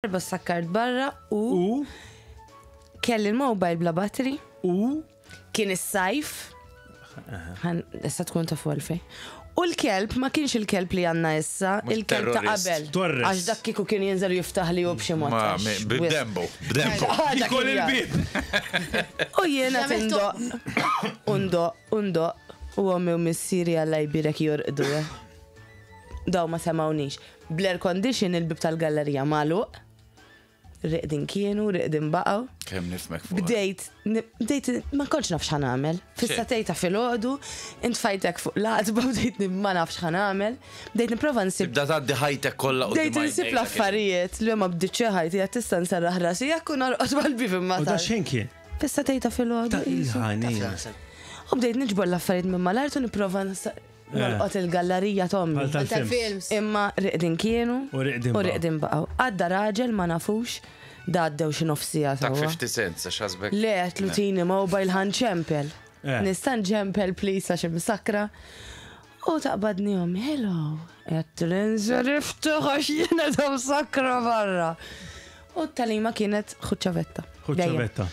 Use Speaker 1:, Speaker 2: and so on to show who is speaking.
Speaker 1: Darba sakkart barra u.
Speaker 2: U?
Speaker 1: Kelli l-mobile bla battery.
Speaker 2: U?
Speaker 1: Kien is-sajf. Issa tkun ta' għalfej. U l-kelb ma kienx il-kelb li għandna issa, il-kelb ta' qabel.
Speaker 2: Torres.
Speaker 1: Għax dak kieku kien jinżel u jiftaħ li hu b'xi mod.
Speaker 3: Ma, b'dembo, b'dembo.
Speaker 2: Jikol il-bib.
Speaker 1: U jiena tindoq, undoq, undoq, u ommi u missieri Alla jbierek jorqdu. Eh. Daw ma semgħunix. Bl-air condition il-bieb tal-gallerija magħluq. Riqdin kienu, riqdin baqgħu.
Speaker 3: Kemm nifhmek fuq.
Speaker 1: Bdejt, bdejt, ma kontx naf x'ħa nagħmel. Fis-sagħtejn ta' filgħodu, intfajtek fuq l-għatba bdejt ma nafx x'ħa nagħmel. Bdejt nipprova nsib.
Speaker 3: Tibda tgħaddi ħajtek kollha quddiem
Speaker 1: Bdejt insib l-affarijiet li ma bdietx ħajti qed tista' nserraħ rasi jekk u norqod mal-bieb imma.
Speaker 2: U da xejn kien?
Speaker 1: Fis-sagħtejn ta' filgħodu.
Speaker 2: Ta' il-ħanina.
Speaker 1: U bdejt niġbor l-affarijiet minn mal-art u nipprova Nolqot il-gallarija t'ommi.
Speaker 2: Bħal tal-films.
Speaker 1: Imma riqdin kienu.
Speaker 2: U riqdin
Speaker 1: U riqdin baqgħu. Għadda raġel ma nafux, da għaddew xi nofs siegħa
Speaker 3: Tak
Speaker 1: sewwa.
Speaker 3: 50 cents, għax ħasbek.
Speaker 1: Le, għedtlu tini mobile ħa nċempel.
Speaker 2: Eh.
Speaker 1: Nista' nċempel please għax imsakkra. U taqbadni ommi, hello. Għedtlu inżel iftaħ għax jiena ta' msakkra barra. U t-tagħlima kienet ħu ċ-ċavetta.
Speaker 2: Ħu ċ-ċavetta.